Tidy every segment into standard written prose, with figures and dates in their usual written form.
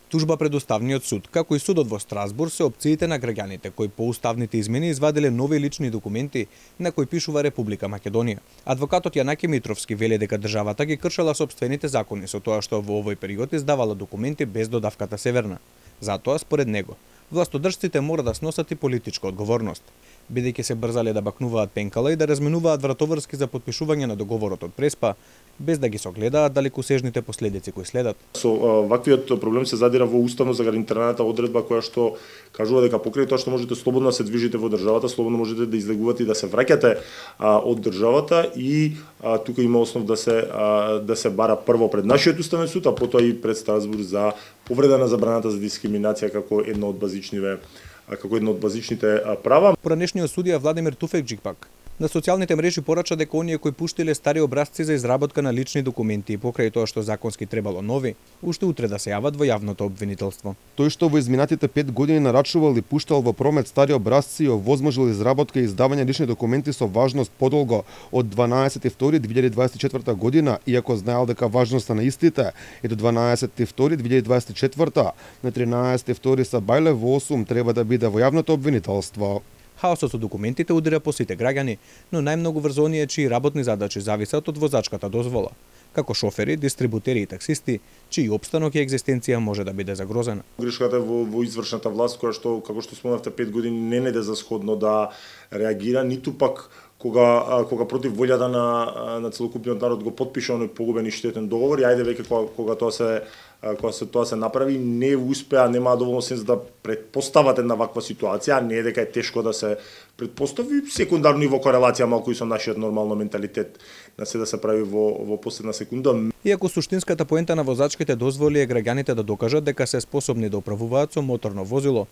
Тужба пред Уставниот суд, како и судот во Страсбург, се опциите на граѓаните кои по уставните измени извадиле нови лични документи на кои пишува Република Македонија. Адвокатот Јанаки Митровски вели дека државата ги кршела сопствените закони со тоа што во овој период издавала документи без додавката Северна. Затоа, според него, властодржците мора да сносат и политичка одговорност, бидејќи се брзале да бакнуваат пенкала и да разменуваат вратоврски за потпишување на договорот од Преспа, без да ги согледаат далекосежните последици кои следат. Со ваквиот проблем се задира во уставно загарантираната одредба која што кажува дека покрај тоа што можете слободно да се движите во државата, слободно можете да излегувате и да се враќате од државата и тука има основ да се бара прво пред нашиот уставен суд, а потоа и пред Страсбург за повреда на забраната за дискриминација како едно од базичните права. Поранешниот судија Владимир Туфекџик пак на социјалните мрежи порача дека оние кои пуштиле стари образци за изработка на лични документи и покрај тоа што законски требало нови, уште утре да се јават во јавното обвинителство. Тој што во изминатите 5 години нарачувал и пуштал во промет стари образци и овозможил изработка и издавање лични документи со важност подолго од 12.2.2024 година, иако знаел дека важноста на истите е до 12.2.2024, на 13.2 са бајле во 8 треба да биде во јавното обвинителство. Хаосот со документите удира по сите граѓани, но најмногу врз оние чии работни задачи зависат од возачката дозвола, како шофери, дистрибутери и таксисти, чии опстанок и екзистенција може да биде загрозена. Грешката во извршната власт, која што, како што спомнавте, 5 години не најде за сходно да реагира, ниту пак кога против волјата на целокупниот народ го потпише оној погубен и штетен договор, и ајде веќе кога тоа се направи, не успеа, немаа доволно сенс да предпостават една ваква ситуација, не е дека е тешко да се предпостави, секундарно и во корелација малку и со нашиот нормално менталитет на се да се прави во последна секунда. Иако суштинската поента на возачките дозволи е граѓаните да докажат дека се способни да управуваат со моторно возило,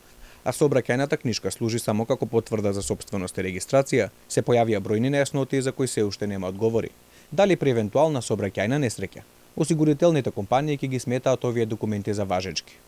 а сообраќајната книшка служи само како потврда за сопственост и регистрација, се појавија бројни нејасноти за кои се уште нема одговори. Дали при евентуална сообраќајна несреќа, осигурителните компанији ќе ги сметаат овие документи за важечки.